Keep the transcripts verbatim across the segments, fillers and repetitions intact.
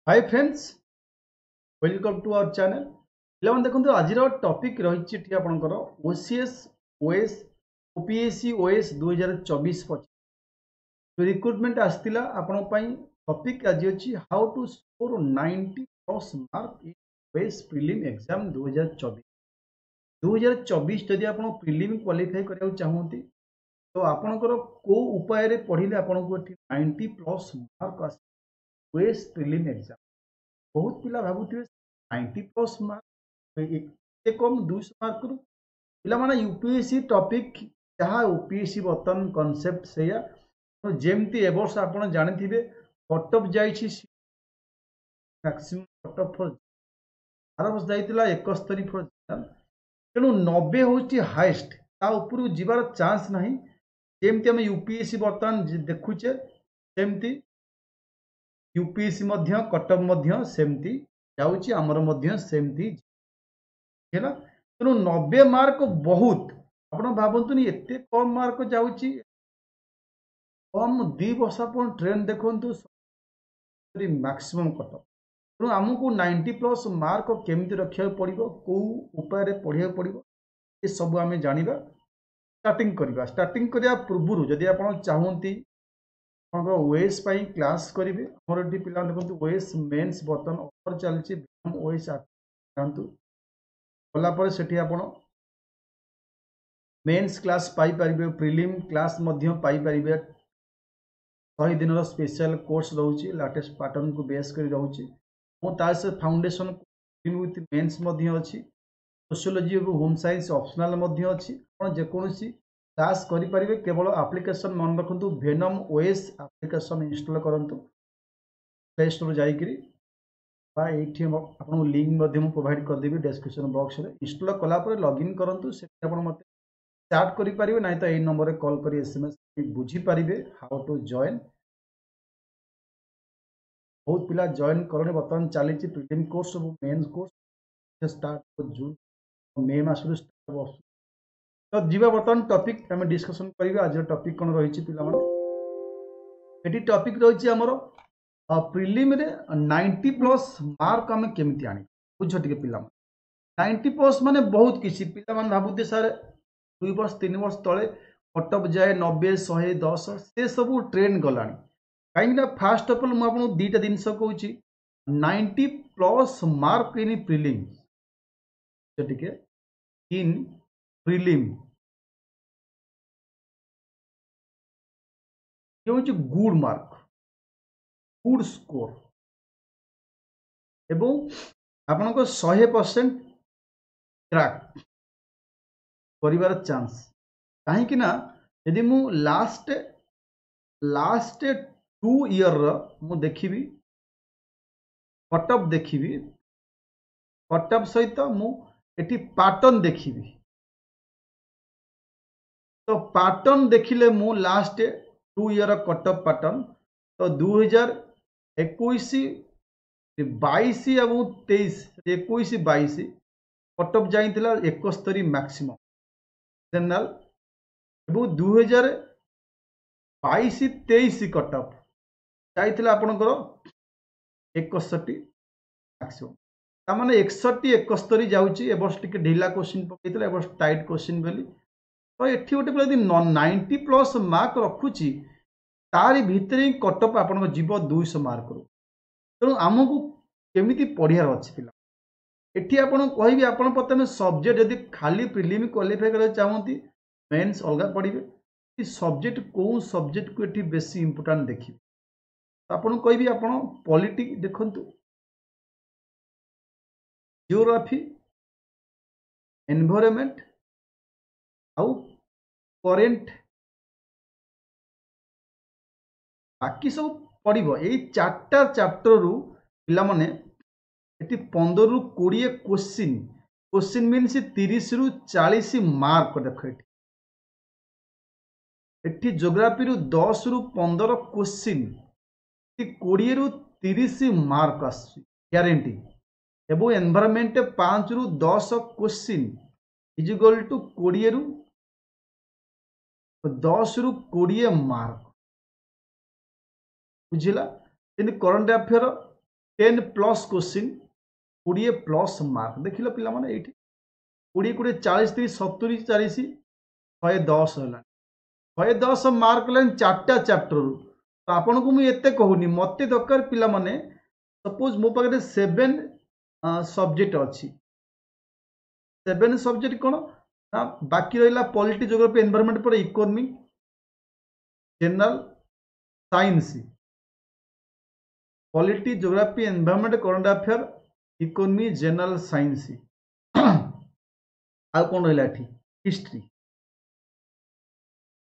Hi friends, welcome to our channel. ପିଲାମାନେ ଦେଖନ୍ତୁ, ଆଜିର ଟପିକ୍ ରହିଛି ଏଠି ଆପଣଙ୍କର ଓସିଏସ୍, ଓଏସ୍, ଓପିଏସ୍ସି ଓଏସ୍ ଦୁଇ ହଜାର ଚବିଶ ପଚିଶ ରିକ୍ରୁଟମେଣ୍ଟ ଆସିଥିଲା। ଆପଣଙ୍କ ପାଇଁ ଟପିକ୍ ଆଜି ଅଛି how to score ninety plus mark in O A S prelim exam ଦୁଇ ହଜାର ଚବିଶ। ଦୁଇ ହଜାର ଚବିଶ ଯଦି ଆପଣ ପ୍ରିଲିମ୍ କ୍ୱାଲିଫାଇ କରିବାକୁ ଚାହୁଁନ୍ତି, ତ ଆପଣଙ୍କର କେଉଁ ଉପାୟରେ ପଢ଼ିଲେ ଆପଣଙ୍କୁ ଏଠି ନାଇଣ୍ଟି ପ୍ଲସ୍ ମାର୍କ ଆସିବ ଓଏସ୍ ପ୍ରିଲିମ୍ ଏକ୍ଜାମ୍? ବହୁତ ପିଲା ଭାବୁଥିବେ, ନାଇଣ୍ଟି ପ୍ଲସ୍ ମାର୍କ ଏତେ କମ୍, ଦୁଇଶହ ମାର୍କରୁ। ପିଲାମାନେ, ୟୁପିଏସ୍ସି ଟପିକ୍ ଯାହା, ଓପିଏସ୍ସି ବର୍ତ୍ତମାନ କନସେପ୍ଟ ସେଇଆ। ଯେମିତି ଏ ବର୍ଷ ଆପଣ ଜାଣିଥିବେ, କଟଅଫ୍ ଯାଇଛି, ମ୍ୟାକ୍ସିମମ୍ କଟଅଫ୍ ଫର୍ ଆର ବର୍ଷ ଯାଇଥିଲା ଏକସ୍ତରୀ ଫର୍। ତେଣୁ ନବେ ହେଉଛି ହାଏଷ୍ଟ, ତା ଉପରକୁ ଯିବାର ଚାନ୍ସ ନାହିଁ। ଯେମିତି ଆମେ ୟୁପିଏସ୍ସି ବର୍ତ୍ତମାନ ଦେଖୁଛେ, ସେମିତି ୟୁପିଏସ୍ସି ମଧ୍ୟ କଟଅଫ୍ ମଧ୍ୟ ସେମିତି ଯାଉଛି, ଆମର ମଧ୍ୟ ସେମିତି ହେଲା। ତେଣୁ ନବେ ମାର୍କ ବହୁତ। ଆପଣ ଭାବନ୍ତୁନି ଏତେ କମ୍ ମାର୍କ ଯାଉଛି। କମ୍ ଦୁଇ ବର୍ଷ ଆପଣ ଟ୍ରେଣ୍ଡ ଦେଖନ୍ତୁ, ମ୍ୟାକ୍ସିମମ୍ କଟଅଫ୍। ତେଣୁ ଆମକୁ ନାଇଣ୍ଟି ପ୍ଲସ୍ ମାର୍କ କେମିତି ରଖିବାକୁ ପଡ଼ିବ, କେଉଁ ଉପାୟରେ ପଢ଼ିବାକୁ ପଡ଼ିବ, ଏସବୁ ଆମେ ଜାଣିବା। ଷ୍ଟାର୍ଟିଂ କରିବା। ଷ୍ଟାର୍ଟିଂ କରିବା ପୂର୍ବରୁ ଯଦି ଆପଣ ଚାହୁଁନ୍ତି ଆପଣଙ୍କର ଓଏସ୍ ପାଇଁ କ୍ଲାସ୍ କରିବେ, ଆମର ଏଠି ପିଲାମାନେ ଦେଖନ୍ତୁ, ଓଏସ୍ ମେନ୍ସ ବର୍ତ୍ତମାନ ଅଫର୍ ଚାଲିଛି। ଓଏସ୍ ଯାଆନ୍ତୁ, ଗଲା ପରେ ସେଠି ଆପଣ ମେନ୍ସ କ୍ଲାସ୍ ପାଇପାରିବେ, ପ୍ରିଲିମ୍ କ୍ଲାସ୍ ମଧ୍ୟ ପାଇପାରିବେ। ଶହେ ଦିନର ସ୍ପେଶାଲ କୋର୍ସ ରହୁଛି, ଲାଟେଷ୍ଟ ପାଟର୍ନକୁ ବେସ୍ କରି ରହୁଛି ଏବଂ ତା ସହିତ ଫାଉଣ୍ଡେସନ୍ ୱିଥ୍ ମେନ୍ସ ମଧ୍ୟ ଅଛି। ସୋସିଓଲୋଜି ଏବଂ ହୋମ୍ ସାଇନ୍ସ ଅପସନାଲ୍ ମଧ୍ୟ ଅଛି। ଆପଣ ଯେକୌଣସି କ୍ଲାସ୍ କରିପାରିବେ। କେବଳ ଆପ୍ଲିକେସନ୍ ମନେ ରଖନ୍ତୁ, ଭେନମ୍ ଓଏସ୍ ଆପ୍ଲିକେସନ୍ ଇନଷ୍ଟଲ୍ କରନ୍ତୁ ପ୍ଲେ ଷ୍ଟୋର୍ ଯାଇକରି, ବା ଏଇଠି ଆପଣଙ୍କୁ ଲିଙ୍କ୍ ମଧ୍ୟ ମୁଁ ପ୍ରୋଭାଇଡ଼ କରିଦେବି ଡେସ୍କ୍ରିପସନ୍ ବକ୍ସରେ। ଇନଷ୍ଟଲ୍ କଲା ପରେ ଲଗ୍ଇନ୍ କରନ୍ତୁ। ସେଠି ଆପଣ ମୋତେ ଚାଟ୍ କରିପାରିବେ, ନାହିଁ ତ ଏଇ ନମ୍ବରରେ କଲ୍ କରି ଏସ୍ ଏମ୍ ଏସ୍ ବୁଝିପାରିବେ how to join. ବହୁତ ପିଲା ଜଏନ୍ କଲେଣି। ବର୍ତ୍ତମାନ ଚାଲିଛି ପ୍ରିଲିମ୍ କୋର୍ସ ଏବଂ mains course start, June May ମାସରୁ ଷ୍ଟାର୍ଟ। ତ ଯିବା, ବର୍ତ୍ତମାନ ଟପିକ୍ ଆମେ ଡିସ୍କସନ୍ କରିବା। ଆଜିର ଟପିକ୍ କ'ଣ ରହିଛି ପିଲାମାନେ? ଏଠି ଟପିକ୍ ରହିଛି ଆମର ପ୍ରିଲିମ୍ରେ ନାଇଣ୍ଟି ପ୍ଲସ୍ ମାର୍କ ଆମେ କେମିତି ଆଣିବା। ବୁଝ ଟିକେ ପିଲାମାନେ, ନାଇଣ୍ଟି ପ୍ଲସ୍ ମାନେ ବହୁତ କିଛି। ପିଲାମାନେ ଭାବୁଥିବେ, ସାର୍, ଦୁଇ ବର୍ଷ ତିନି ବର୍ଷ ତଳେ କଟଅଫ୍ ଯାଏ ନବେ, ଶହେ ଦଶ, ସେ ସବୁ ଟ୍ରେଣ୍ଡ ଗଲାଣି। କାହିଁକିନା ଫାଷ୍ଟ ଅଫ୍ ଅଲ୍ ମୁଁ ଆପଣଙ୍କୁ ଦୁଇଟା ଜିନିଷ କହୁଛି। Ninety plus mark in prelim, ସେ ଟିକେ ଇନ୍ ପ୍ରିଲିମ୍ ହେଉଛି ଗୁଡ୍ ମାର୍କ, ଗୁଡ୍ ସ୍କୋର ଏବଂ ଆପଣଙ୍କ ଶହେ ପରସେଣ୍ଟ କ୍ରାକ୍ କରିବାର ଚାନ୍ସ। କାହିଁକି ନା ଯଦି ମୁଁ ଲାଷ୍ଟ ଲାଷ୍ଟ ଟୁ ଇୟର୍ର ମୁଁ ଦେଖିବି, କଟଅଫ୍ ଦେଖିବି, କଟଅଫ୍ ସହିତ ମୁଁ ଏଠି ପାଟର୍ନ ଦେଖିବି, ତ ପାଟର୍ନ ଦେଖିଲେ ମୁଁ last two year cut-off pattern, ତ ଦୁଇ ହଜାର ଏକୋଇଶ ବାଇଶ ଏବଂ ତେଇଶ, ଏକୋଇଶ ବାଇଶ କଟଅଫ୍ ଯାଇଥିଲା ଏକସ୍ତରୀ ମ୍ୟାକ୍ସିମମ୍ ଜେନେରାଲ ଏବଂ ଦୁଇ ହଜାର ବାଇଶ ତେଇଶ କଟଅଫ୍ ଯାଇଥିଲା ଆପଣଙ୍କର ଏକଷଠି ମ୍ୟାକ୍ସିମମ୍। ତାମାନେ ଏକଷଠି, ଏକସ୍ତରୀ ଯାଉଛି। ଏ ବର୍ଷ ଟିକେ ଢିଲା କୋଶ୍ଚିନ୍ ପକେଇଥିଲା, ଏ ବର୍ଷ ଟାଇଟ୍ କୋଶ୍ଚିନ୍ ବୋଲି। ତ ଏଠି ଗୋଟେ ପିଲା ଯଦି ନାଇଣ୍ଟି ପ୍ଲସ୍ ମାର୍କ ରଖୁଛି, ତାରି ଭିତରେ ହିଁ କଟଅଫ୍ ଆପଣଙ୍କ ଯିବ ଦୁଇଶହ ମାର୍କରୁ। ତେଣୁ ଆମକୁ କେମିତି ପଢ଼ିବାର ଅଛି ପିଲା, ଏଠି ଆପଣଙ୍କୁ କହିବି। ଆପଣ ପ୍ରଥମେ ସବଜେକ୍ଟ, ଯଦି ଖାଲି ପ୍ରିଲିମ୍ କ୍ୱାଲିଫାଇ କରିବାକୁ ଚାହୁଁନ୍ତି, ମେନ୍ସ ଅଲଗା ପଢ଼ିବେ। ସବଜେକ୍ଟ, କେଉଁ ସବଜେକ୍ଟକୁ ଏଠି ବେଶୀ ଇମ୍ପୋର୍ଟାଣ୍ଟ ଦେଖିବେ? ଆପଣଙ୍କୁ କହିବି, ଆପଣ ପଲିଟି ଦେଖନ୍ତୁ, ଜିଓଗ୍ରାଫି, ଏନଭାଇରନମେଣ୍ଟ ଆଉ କରେଣ୍ଟ, ବାକି ସବୁ ପଡ଼ିବ। ଏଇ ଚାରିଟା ଚାପ୍ଟରରୁ ପିଲାମାନେ ଏଠି ପନ୍ଦରରୁ କୋଡ଼ିଏ କୋଶ୍ଚିନ୍, କୋଶ୍ଚିନ୍ ମିନ୍ସ ତିରିଶରୁ ଚାଳିଶ ମାର୍କ। ଦେଖ, ଏଠି ଏଠି ଜୋଗ୍ରାଫିରୁ ଦଶରୁ ପନ୍ଦର କୋଶ୍ଚିନ୍, କୋଡ଼ିଏରୁ ତିରିଶ ମାର୍କ ଆସୁଛି ଗ୍ୟାରେଣ୍ଟି ଏବଂ ଏନଭାରମେଣ୍ଟ ପାଞ୍ଚରୁ ଦଶ କୋଶ୍ଚିନ୍ is equal two କୋଡ଼ିଏରୁ ଦଶରୁ କୋଡ଼ିଏ ମାର୍କ। ବୁଝିଲା? ଯେମିତି current affair ten plus question କୋଡ଼ିଏ ପ୍ଲସ୍ ମାର୍କ ଦେଖିଲ ପିଲାମାନେ ଏଇଠି କୋଡ଼ିଏ କୋଡ଼ିଏ ଚାଳିଶ ତିରିଶ ସତୁରି ଚାଳିଶ ଶହେ ଦଶ ହେଲାଣି ଶହେ ଦଶ ମାର୍କ ହେଲାଣି ଚାରିଟା ଚାପ୍ଟରରୁ ତ ଆପଣଙ୍କୁ ମୁଁ ଏତେ କହୁନି ମୋତେ ଦରକାର ପିଲାମାନେ ସପୋଜ ମୋ ପାଖରେ ସେଭେନ୍ ସବଜେକ୍ଟ ଅଛି ସେଭେନ୍ ସବଜେକ୍ଟ କ'ଣ ନା ବାକି ରହିଲା ପଲିଟି ଜୋଗ୍ରାଫି ଏନଭାରମେଣ୍ଟ ପରେ economy general science polity geography environment current affair economy general science ଆଉ କ'ଣ ରହିଲା ଏଠି ହିଷ୍ଟ୍ରି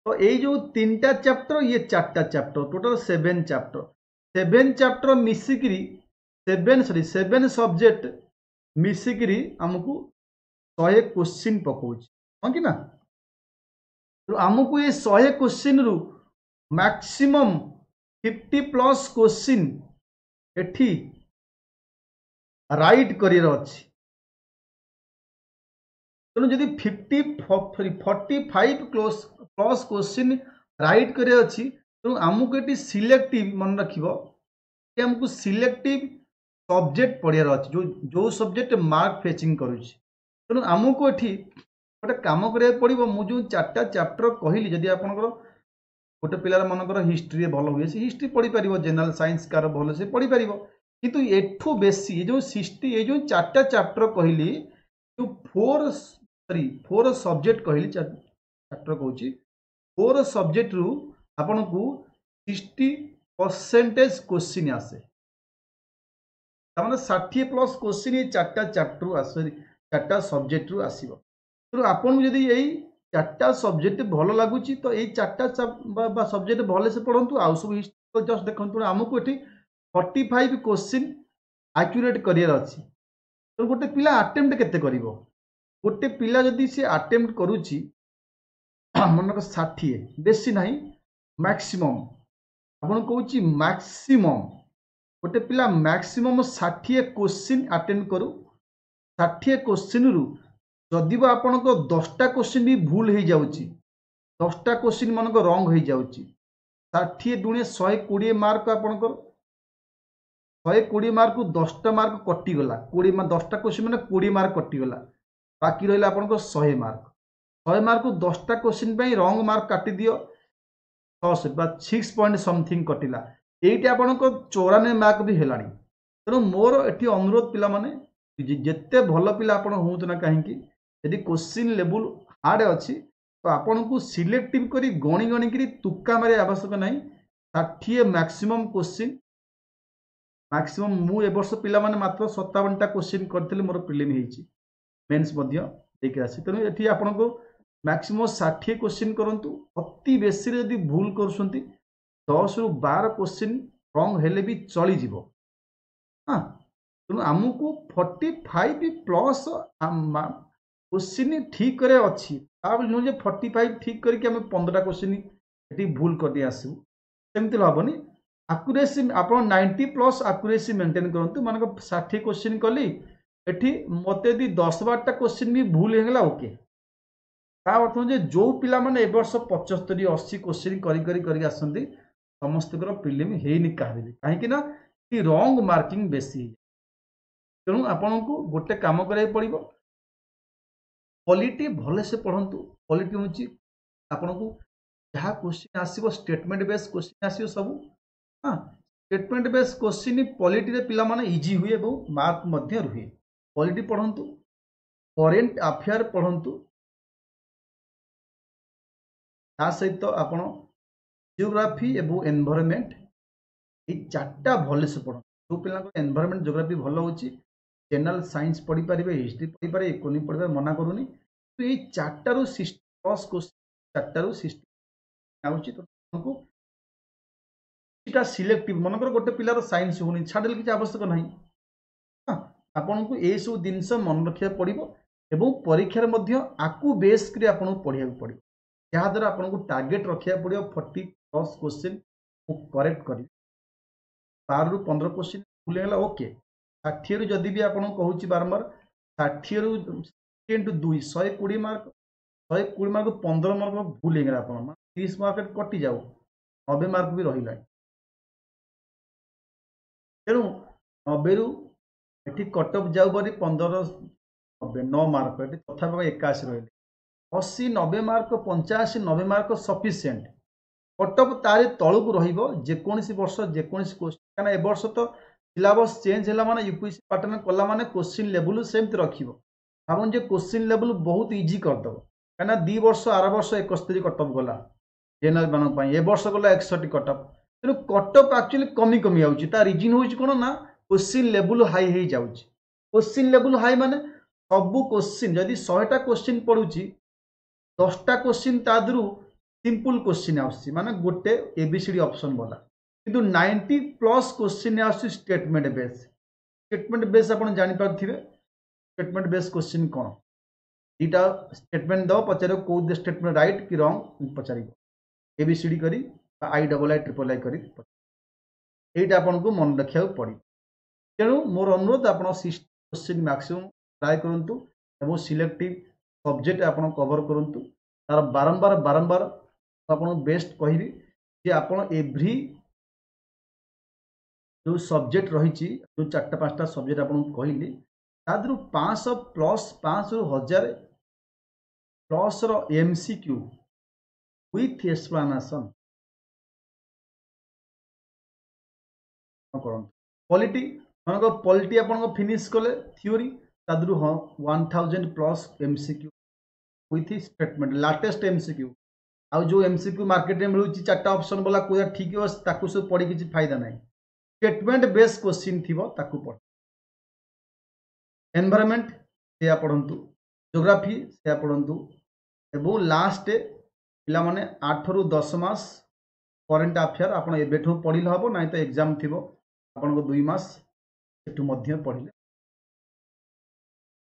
ତ ଏଇ ଯୋଉ ତିନିଟା ଚାପ୍ଟର ଇଏ ଚାରିଟା chapter total seven chapter seven chapter ମିଶିକିରି ସେଭେନ୍ ସରି ସେଭେନ୍ ସବଜେକ୍ଟ ମିଶିକିରି ଆମକୁ ଶହେ କୋଶ୍ଚିନ୍ ପକଉଛି ହଁ କି ନା ତେଣୁ ଆମକୁ ଏ ଶହେ କୋଶ୍ଚିନ୍ରୁ ମ୍ୟାକ୍ସିମମ୍ ଫିଫ୍ଟି ପ୍ଲସ୍ କୋଶ୍ଚିନ୍ ଏଠି ରାଇଟ୍ କରିବାର ଅଛି ତେଣୁ ଯଦି fifty forty five close plus question right କରିବାର ଅଛି ତେଣୁ ଆମକୁ ଏଠି ସିଲେକ୍ଟିଭ୍ ମନେ ରଖିବ ଆମକୁ ସିଲେକ୍ଟିଭ୍ ସବଜେକ୍ଟ ପଢ଼ିବାର ଅଛି ଯେଉଁ ଯେଉଁ ସବଜେକ୍ଟ ମାର୍କ ଫେଚିଂ କରୁଛି ତେଣୁ ଆମକୁ ଏଠି ଗୋଟେ କାମ କରିବାକୁ ପଡ଼ିବ ମୁଁ ଯେଉଁ ଚାରିଟା ଚାପ୍ଟର କହିଲି ଯଦି ଆପଣଙ୍କର ଗୋଟେ ପିଲାର ମନେକର ହିଷ୍ଟ୍ରିରେ ଭଲ ହୁଏ ସେ ହିଷ୍ଟ୍ରି ପଢ଼ିପାରିବ ଜେନେରାଲ ସାଇନ୍ସ କାହାର ଭଲ ସେ ପଢ଼ିପାରିବ କିନ୍ତୁ ଏଠୁ ବେଶୀ ଏ ଯେଉଁ ସିକ୍ସଟି ଏ ଯେଉଁ ଚାରିଟା ଚାପ୍ଟର କହିଲି ଯେଉଁ ଫୋର୍ ସରି ଫୋର୍ ସବଜେକ୍ଟ କହିଲି ଚାପ୍ଟର କହୁଛି ଫୋର୍ ସବଜେକ୍ଟରୁ ଆପଣଙ୍କୁ ସିକ୍ସଟି ପରସେଣ୍ଟେଜ କୋଶ୍ଚିନ୍ ଆସେ ତାମାନେ ଷାଠିଏ ପ୍ଲସ୍ କୋଶ୍ଚିନ୍ ଏଇ ଚାରିଟା ଚାପ୍ଟରରୁ ଆସେ ଚାରିଟା ସବଜେକ୍ଟରୁ ଆସିବ ତେଣୁ ଆପଣଙ୍କୁ ଯଦି ଏଇ ଚାରିଟା ସବଜେକ୍ଟ ଭଲ ଲାଗୁଛି ତ ଏଇ ଚାରିଟା ବା ସବଜେକ୍ଟ ଭଲସେ ପଢ଼ନ୍ତୁ ଆଉ ସବୁ ହିଷ୍ଟ୍ରି ଜଷ୍ଟ ଦେଖନ୍ତୁ ଆମକୁ ଏଠି ଫର୍ଟି ଫାଇଭ୍ କୋଶ୍ଚିନ୍ ଆକ୍ୟୁରେଟ୍ କରିବାର ଅଛି ତେଣୁ ଗୋଟେ ପିଲା ଆଟେମ୍ପ୍ଟ କେତେ କରିବ ଗୋଟେ ପିଲା ଯଦି ସେ ଆଟେମ୍ପ୍ଟ କରୁଛି ମନେକର ଷାଠିଏ ବେଶୀ ନାହିଁ ମ୍ୟାକ୍ସିମମ୍ ଆପଣ କହୁଛି ମ୍ୟାକ୍ସିମମ୍ ଗୋଟେ ପିଲା ମ୍ୟାକ୍ସିମମ୍ ଷାଠିଏ କୋଶ୍ଚିନ୍ ଆଟେଣ୍ଡ କରୁ ଷାଠିଏ କୋଶ୍ଚିନ୍ରୁ ଯଦି ବା ଆପଣଙ୍କ ଦଶଟା କୋଶ୍ଚିନ୍ ବି ଭୁଲ ହେଇଯାଉଛି ଦଶଟା କୋଶ୍ଚିନ୍ ମାନଙ୍କ ରଙ୍ଗ ହେଇଯାଉଛି ଷାଠିଏ ଦୁଣେ ଶହେ କୋଡ଼ିଏ ମାର୍କ ଆପଣଙ୍କର ଶହେ କୋଡ଼ିଏ ମାର୍କରୁ ଦଶଟା ମାର୍କ କଟିଗଲା କୋଡ଼ିଏ ଦଶଟା କୋଶ୍ଚିନ୍ ମାନେ କୋଡ଼ିଏ ମାର୍କ କଟିଗଲା ବାକି ରହିଲା ଆପଣଙ୍କ ଶହେ ମାର୍କ ଶହେ ମାର୍କରୁ ଦଶଟା କୋଶ୍ଚିନ୍ ପାଇଁ ରଙ୍ଗ ମାର୍କ କାଟିଦିଅ ଛଅଶହ ବା ସିକ୍ସ ପଏଣ୍ଟ ସମଥିଙ୍ଗ କଟିଲା ଏଇଠି ଆପଣଙ୍କ ଚଉରାନବେ ମାର୍କ ବି ହେଲାଣି ତେଣୁ ମୋର ଏଠି ଅନୁରୋଧ ପିଲାମାନେ ଯେତେ ଭଲ ପିଲା ଆପଣ ହୁଅନ୍ତୁ ନା କାହିଁକି ଯଦି କୋଶ୍ଚିନ୍ ଲେବୁଲ୍ ହାର୍ଡ଼ ଅଛି ତ ଆପଣଙ୍କୁ ସିଲେକ୍ଟିଭ୍ କରି ଗଣି ଗଣିକିରି ତୁକ୍କା ମାରିବା ଆବଶ୍ୟକ ନାହିଁ ଷାଠିଏ ମ୍ୟାକ୍ସିମମ୍ କୋଶ୍ଚିନ୍ ମ୍ୟାକ୍ସିମମ୍ ମୁଁ ଏ ବର୍ଷ ପିଲାମାନେ ମାତ୍ର ସତାବନଟା କୋଶ୍ଚିନ୍ କରିଥିଲି ମୋର ପ୍ରିଲିମ୍ ହେଇଛି ମେନ୍ସ ମଧ୍ୟ ଦେଇକି ଆସିଛି ତେଣୁ ଏଠି ଆପଣଙ୍କୁ ମ୍ୟାକ୍ସିମମ୍ ଷାଠିଏ କୋଶ୍ଚିନ୍ କରନ୍ତୁ ଅତି ବେଶୀରେ ଯଦି ଭୁଲ କରୁଛନ୍ତି ଦଶରୁ ବାର କୋଶ୍ଚିନ୍ ରଙ୍ଗ ହେଲେ ବି ଚଳିଯିବ ହଁ ତେଣୁ ଆମକୁ ଫର୍ଟି ଫାଇଭ୍ ପ୍ଲସ୍ କୋଶ୍ଚିନ୍ ଠିକ୍ କରିବାର ଅଛି ତା ବୋଲି ନୁହେଁ ଯେ ଫର୍ଟି ଫାଇଭ୍ ଠିକ୍ କରିକି ଆମେ ପନ୍ଦରଟା କୋଶ୍ଚିନ୍ ଏଠି ଭୁଲ କରିଦେଇ ଆସିବୁ ସେମିତି ହେବନି ଆକୁରେସି ଆପଣ ନାଇଣ୍ଟି ପ୍ଲସ୍ ଆକୁରେସି ମେଣ୍ଟେନ୍ କରନ୍ତୁ ମନେକର ଷାଠିଏ କୋଶ୍ଚିନ୍ କଲି ଏଠି ମୋତେ ଯଦି ଦଶ ବାରଟା କୋଶ୍ଚିନ୍ ବି ଭୁଲ ହେଇଗଲା ଓକେ ତା ଅର୍ଥ ଯେ ଯେଉଁ ପିଲାମାନେ ଏ ବର୍ଷ ପଚସ୍ତରୀ ଅଶୀ କୋଶ୍ଚିନ୍ କରି କରି କରିକି ଆସନ୍ତି ସମସ୍ତଙ୍କର ପ୍ରିଲିମ୍ ହେଇନି କାହାର ବି କାହିଁକି ନା ରଙ୍ଗ ମାର୍କିଂ ବେଶୀ ହେଇଯାଏ ତେଣୁ ଆପଣଙ୍କୁ ଗୋଟେ କାମ କରିବାକୁ ପଡ଼ିବ ପଲିଟି ଭଲସେ ପଢ଼ନ୍ତୁ ପଲିଟି ହେଉଛି ଆପଣଙ୍କୁ ଯାହା କୋଶ୍ଚିନ୍ ଆସିବ ଷ୍ଟେଟମେଣ୍ଟ ବେସ୍ କୋଶ୍ଚିନ୍ ଆସିବ ସବୁ ହଁ ଷ୍ଟେଟମେଣ୍ଟ ବେସ୍ କୋଶ୍ଚିନ୍ ପଲିଟିରେ ପିଲାମାନେ ଇଜି ହୁଏ ଏବଂ ମାର୍କ ମଧ୍ୟ ରୁହେ ପଲିଟି ପଢ଼ନ୍ତୁ କରେଣ୍ଟ ଆଫେୟାର ପଢ଼ନ୍ତୁ ତା ସହିତ ଆପଣ ଜିଓଗ୍ରାଫି ଏବଂ ଏନଭାରମେଣ୍ଟ ଏଇ ଚାରିଟା ଭଲସେ ପଢ଼ନ୍ତୁ ଯେଉଁ ପିଲାଙ୍କର ଏନଭାରମେଣ୍ଟ ଜିଓଗ୍ରାଫି ଭଲ ହେଉଛି ଜେନେରାଲ ସାଇନ୍ସ ପଢ଼ିପାରିବେ ହିଷ୍ଟ୍ରି ପଢ଼ିପାରିବେ ଇକୋନୋମି ପଢ଼ିପାରିବେ ମନା କରୁନି କିନ୍ତୁ ଏଇ ଚାରିଟାରୁ ସିକ୍ସଟି ପ୍ଲସ୍ କୋଶ୍ଚିନ୍ ଚାରିଟାରୁ ସିକ୍ସଟି ଆଉଛି ତ ଆପଣଙ୍କୁ କିଛିଟା ସିଲେକ୍ଟିଭ୍ ମନେକର ଗୋଟେ ପିଲାର ସାଇନ୍ସ ହେଉନି ଛାଡ଼ିଲେ କିଛି ଆବଶ୍ୟକ ନାହିଁ ହଁ ଆପଣଙ୍କୁ ଏଇସବୁ ଜିନିଷ ମନେ ରଖିବାକୁ ପଡ଼ିବ ଏବଂ ପରୀକ୍ଷାରେ ମଧ୍ୟ ଆକୁ ବେସ୍ କରି ଆପଣଙ୍କୁ ପଢ଼ିବାକୁ ପଡ଼ିବ ଯାହାଦ୍ୱାରା ଆପଣଙ୍କୁ ଟାର୍ଗେଟ୍ ରଖିବାକୁ ପଡ଼ିବ ଫର୍ଟି ପ୍ଲସ୍ କୋଶ୍ଚିନ୍ ମୁଁ କରେକ୍ଟ କରିବି ବାରରୁ ପନ୍ଦର କୋଶ୍ଚିନ୍ ଭୁଲ ହେଇଗଲା ଓକେ ଷାଠିଏରୁ ଯଦି ବି ଆପଣଙ୍କୁ କହୁଛି ବାରମ୍ବାର ଷାଠିଏରୁ ଇଣ୍ଟୁ ଦୁଇ ଶହେ କୋଡ଼ିଏ ମାର୍କ ଶହେ କୋଡ଼ିଏ ମାର୍କ ପନ୍ଦର ମାର୍କ ଭୁଲ ହେଇଗଲା ଆପଣ ତିରିଶ ମାର୍କ କଟିଯାଉ ନବେ ମାର୍କ ବି ରହିଲାଣି ତେଣୁ ନବେରୁ ଏଠି କଟଅଫ୍ ଯାଉ ପରି ପନ୍ଦର ନବେ ନଅ ମାର୍କ ଏଠି ତଥାପି ଏକାଅଶୀ ରହିଲେ ଅଶୀ ନବେ ମାର୍କ ପଞ୍ଚାଅଶୀ ନବେ ମାର୍କ ସଫିସିଏଣ୍ଟ କଟଅଫ୍ ତାରି ତଳକୁ ରହିବ ଯେକୌଣସି ବର୍ଷ ଯେକୌଣସି କୋଶ୍ଚିନ୍ କାହିଁକିନା ଏ ବର୍ଷ ତ ସିଲାବସ୍ ଚେଞ୍ଜ ହେଲା ମାନେ ୟୁପିଏସସି ପାଟର୍ନ କଲା ମାନେ କୋଶ୍ଚିନ୍ ଲେବୁଲ୍ ସେମିତି ରଖିବ ଭାବନ୍ତୁ ଯେ କୋଶ୍ଚିନ୍ ଲେବୁଲ୍ ବହୁତ ଇଜି କରିଦେବ କାହିଁକିନା ଦୁଇ ବର୍ଷ ଆର ବର୍ଷ ଏକସ୍ତରୀ କଟଅଫ୍ ଗଲା ଜେନେରାଲ ମାନଙ୍କ ପାଇଁ ଏ ବର୍ଷ ଗଲା ଏକଷଠି କଟଅଫ୍ ତେଣୁ କଟଅଫ୍ ଆକ୍ଚୁଆଲି କମି କମି ଯାଉଛି ତା ରିଜିନ୍ ହେଉଛି କ'ଣ ନା କୋଶ୍ଚିନ୍ ଲେବୁଲ୍ ହାଇ ହେଇଯାଉଛି କୋଶ୍ଚିନ୍ ଲେବୁଲ୍ ହାଇ ମାନେ ସବୁ କୋଶ୍ଚିନ୍ ଯଦି ଶହେଟା କୋଶ୍ଚିନ୍ ପଡ଼ୁଛି ଦଶଟା କୋଶ୍ଚିନ୍ ତା ଦେହରୁ ସିମ୍ପଲ୍ କୋଶ୍ଚିନ୍ ଆସୁଛି ମାନେ ଗୋଟେ ଏ ବି ସି ଡି ଅପସନ୍ ବାଲା କିନ୍ତୁ ନାଇଣ୍ଟି ପ୍ଲସ୍ କୋଶ୍ଚିନ୍ ଆସୁଛି ଷ୍ଟେଟମେଣ୍ଟ ବେସ୍ ଷ୍ଟେଟମେଣ୍ଟ ବେସ୍ ଆପଣ ଜାଣିପାରୁଥିବେ ଷ୍ଟେଟମେଣ୍ଟ ବେସ୍ କୋଶ୍ଚିନ୍ କ'ଣ ଦୁଇଟା ଷ୍ଟେଟମେଣ୍ଟ ଦେବ ପଚାରିବ କେଉଁ ଷ୍ଟେଟମେଣ୍ଟ ରାଇଟ୍ କି ରଙ୍ଗ ପଚାରିବ ଏ ବି ସି ଡି କରି ବା I double I triple I କରି ଏଇଟା ଆପଣଙ୍କୁ ମନେ ରଖିବାକୁ ପଡ଼ିବ ତେଣୁ ମୋର ଅନୁରୋଧ ଆପଣ କୋଶ୍ଚିନ୍ ମ୍ୟାକ୍ସିମମ୍ ଟ୍ରାଏ କରନ୍ତୁ ଏବଂ ସିଲେକ୍ଟିଭ୍ ସବଜେକ୍ଟ ଆପଣ କଭର କରନ୍ତୁ ତାର ବାରମ୍ବାର ବାରମ୍ବାର ଆପଣଙ୍କୁ ବେଷ୍ଟ କହିବି ଯେ ଆପଣ ଏଭ୍ରି ଯେଉଁ ସବଜେକ୍ଟ ରହିଛି ଯେଉଁ ଚାରିଟା ପାଞ୍ଚଟା ସବଜେକ୍ଟ ଆପଣଙ୍କୁ କହିଲି ତା ଦେହରୁ ପାଞ୍ଚଶହ ପ୍ଲସ୍ ପାଞ୍ଚଶହରୁ ହଜାର ପ୍ଲସ୍ର M C Q with explanation କରନ୍ତୁ ପଲିଟି ମନେକର ପଲିଟି ଆପଣଙ୍କ ଫିନିଶ୍ କଲେ ଥିଓରି ତା ଦେହରୁ ହଁ one thousand plus M C Q with statement latest M C Q ଆଉ ଯେଉଁ ଏମ୍ ସି କ୍ୟୁ ମାର୍କେଟରେ ମିଳୁଛି ଚାରିଟା ଅପସନ୍ ବାଲା କେଉଁଟା ଠିକ୍ ହେବ ତାକୁ ସବୁ ପଢ଼ି କିଛି ଫାଇଦା ନାହିଁ ଷ୍ଟେଟମେଣ୍ଟ ବେସ୍ କୋଶ୍ଚିନ୍ ଥିବ ତାକୁ ପଢ଼ ଏନଭାରମେଣ୍ଟ ସେୟା ପଢ଼ନ୍ତୁ ଜୋଗ୍ରାଫି ସେୟା ପଢ଼ନ୍ତୁ ଏବଂ ଲାଷ୍ଟ ପିଲାମାନେ ଆଠରୁ ଦଶ ମାସ କରେଣ୍ଟ ଆଫେୟାର ଆପଣ ଏବେଠୁ ପଢ଼ିଲେ ହେବ ନାହିଁ ତ ଏକ୍ଜାମ୍ ଥିବ ଆପଣଙ୍କ ଦୁଇ ମାସ ସେଠୁ ମଧ୍ୟ ପଢ଼ିଲେ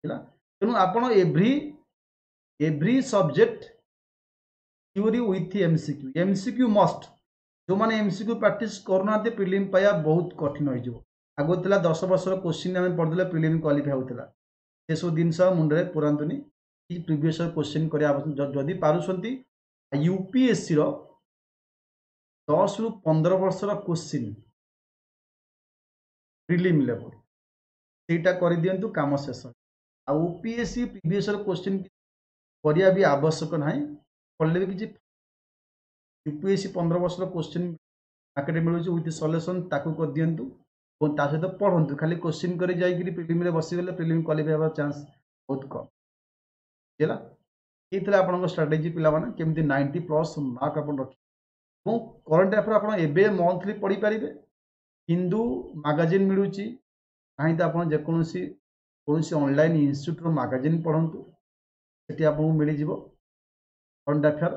ହେଲା ତେଣୁ ଆପଣ every every subject theory with M C Q M C Q must ଯେଉଁମାନେ ଏମ୍ ସି କ୍ୟୁ ପ୍ରାକ୍ଟିସ୍ କରୁନାହାନ୍ତି ପ୍ରିଲିମ୍ ପାଇବା ବହୁତ କଠିନ ହେଇଯିବ ଆଗରୁ ଥିଲା ଦଶ ବର୍ଷର କୋଶ୍ଚିନ୍ ଆମେ ପଢ଼ିଦେଲେ ପ୍ରିଲିମ୍ କ୍ୱାଲିଫାଏ ହେଉଥିଲା ସେସବୁ ଜିନିଷ ମୁଣ୍ଡରେ ପୁରାନ୍ତୁନି କି ପ୍ରିଭିୟସ୍ କୋଶ୍ଚିନ୍ କରିବା ଆବଶ୍ୟକ ଯଦି ପାରୁଛନ୍ତି ୟୁପିଏସ୍ସିର ଦଶରୁ ପନ୍ଦର ବର୍ଷର କୋଶ୍ଚିନ୍ ପ୍ରିଲିମ୍ ଲେଭେଲ୍ ସେଇଟା କରିଦିଅନ୍ତୁ କାମ ଶେଷ ଆଉ ଓପିଏସ୍ସି ପ୍ରିଭିୟସ୍ କୋଶ୍ଚିନ୍ କରିବା ବି ଆବଶ୍ୟକ ନାହିଁ ପଢ଼ିଲେ ବି କିଛି ୟୁପିଏସ୍ସି ପନ୍ଦର ବର୍ଷର କୋଶ୍ଚିନ୍ ମାର୍କେଟରେ ମିଳୁଛି ୱିଥ୍ ସଲ୍ୟୁସନ୍ ତାକୁ କରିଦିଅନ୍ତୁ ଏବଂ ତା ସହିତ ପଢ଼ନ୍ତୁ ଖାଲି କୋଶ୍ଚିନ୍ କରି ଯାଇକିରି ପ୍ରିଲିମ୍ରେ ବସିଗଲେ ପ୍ରିଲିମ୍ କ୍ୱାଲିଫାଏ ହେବାର ଚାନ୍ସ ବହୁତ କମ୍ ହେଲା ଏଇ ଥିଲା ଆପଣଙ୍କ ଷ୍ଟ୍ରାଟେଜି ପିଲାମାନେ କେମିତି ନାଇଣ୍ଟି ପ୍ଲସ୍ ମାର୍କ ଆପଣ ରଖିବେ ଏବଂ କରେଣ୍ଟ ଆଫେୟାର ଆପଣ ଏବେ ମନ୍ଥଲି ପଢ଼ିପାରିବେ ହିନ୍ଦୁ ମାଗାଜିନ୍ ମିଳୁଛି ନାହିଁ ତ ଆପଣ ଯେକୌଣସି କୌଣସି ଅନଲାଇନ୍ ଇନଷ୍ଟିଚ୍ୟୁଟ୍ର ମାଗାଜିନ୍ ପଢ଼ନ୍ତୁ ସେଠି ଆପଣଙ୍କୁ ମିଳିଯିବ କରେଣ୍ଟ ଆଫେୟାର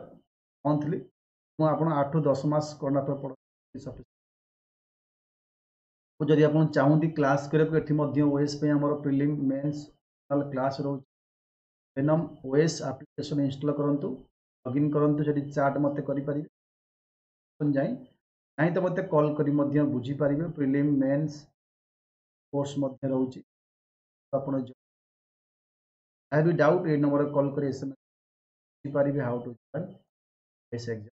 ମନ୍ଥଲି ଏବଂ ଆପଣ ଆଠରୁ ଦଶ ମାସ କରେଣ୍ଟ ଆଫେୟାର ପଢ଼ନ୍ତୁ ସଫିସିଏଣ୍ଟ ଯଦି ଆପଣ ଚାହୁଁନ୍ତି କ୍ଲାସ୍ କରିବାକୁ ଏଠି ମଧ୍ୟ ଓଏସ୍ ପାଇଁ ଆମର ପ୍ରିଲିମ୍ ମେନ୍ସ କ୍ଲାସ୍ ରହୁଛି ଭେନମ୍ ଓଏସ୍ ଆପ୍ଲିକେସନ୍ ଇନଷ୍ଟଲ୍ କରନ୍ତୁ ଲଗ୍ଇନ୍ କରନ୍ତୁ ସେଠି ଚାଟ୍ ମୋତେ କରିପାରିବେ ଯାଇ ନାହିଁ ତ ମୋତେ କଲ୍ କରି ମଧ୍ୟ ବୁଝିପାରିବେ ପ୍ରିଲିମ୍ ମେନ୍ସ କୋର୍ସ ମଧ୍ୟ ରହୁଛି ଆପଣ ଯାହା ବି ଡାଉଟ୍ ଏଇ ନମ୍ବରରେ କଲ୍ କରି ଏସ୍ ଏମ୍ ଏସ୍ ବୁଝିପାରିବେ how to join S exam